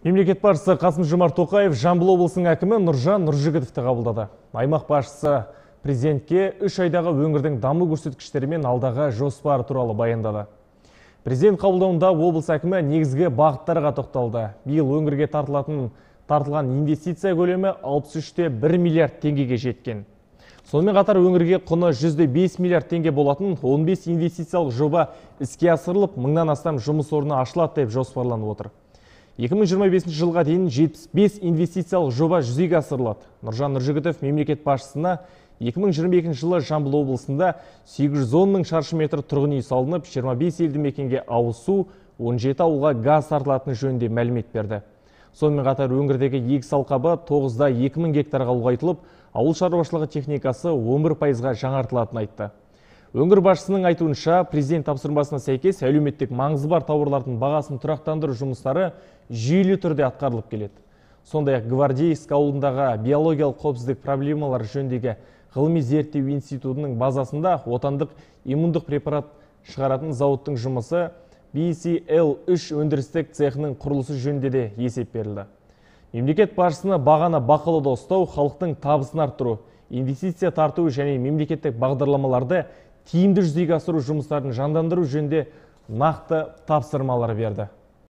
Мемлекет басшысы Қасым-Жомарт Тоқаев Жамбыл облысының әкімі Нұржан Нұржігітовті қабылдады. Аймақ басшысы президентке 3 айдағы өңірдің даму көрсеткіштері мен алдағы жоспары туралы баяндады. Президент қабылдауында облыс әкімі негізгі бағыттарға тоқталды. Биыл өңірге тартылған инвестиция көлемі 63,1 миллиард теңгеге жеткен. Сонымен қатар өңірге құны 105 миллиард теңге болатын 15 инвестициялық жоба іске асырылып, 1000-нан астам жұмыс орны ашылады деп жоспарланып отыр. 2025 жылға дейін 75 инвестициялық жоба жүзеге асырылады. Нұржан Нұржігітов мемлекет басшысына 2022 жылы Жамбыл облысында 810 мың шаршы метр тұрғын үй салынып, 25 елді мекенге ауыз су, 17 ауылға газ тартылатыны жөнінде мәлімет берді. Сонымен қатар өңірдегі егіс алқабы 9-да 2000 гектарға ұлғайтылып, ауыл шаруашылығы техникасы 11%-ға жаңартылатынын айтты. Өңір басшысының айтуынша, президент тапсырмасына сәйкес әлеуметтік маңызы бар тауарлардың бағасын тұрақтандыру жұмыстары жүйелі түрде атқарылып келеді. Сондай-ақ Гвардейск ауылындағы биологиялық қауіпсіздік проблемалары жөніндегі ғылыми зерттеу институтының базасында отандық иммундық препарат шығаратын зауыттың жұмысы BCL3 өндірістік цехының құрылысы жөнінде де есеп берілді. Мемлекет басшысына бағаны бақылауда ұстау, халықтың табысын арттыру, инвестиция тарту және мемлекеттік бағдарламаларды тиімді жүзеге асыру жұмыстарын жандандыру жөнінде нақты тапсырмалар берді.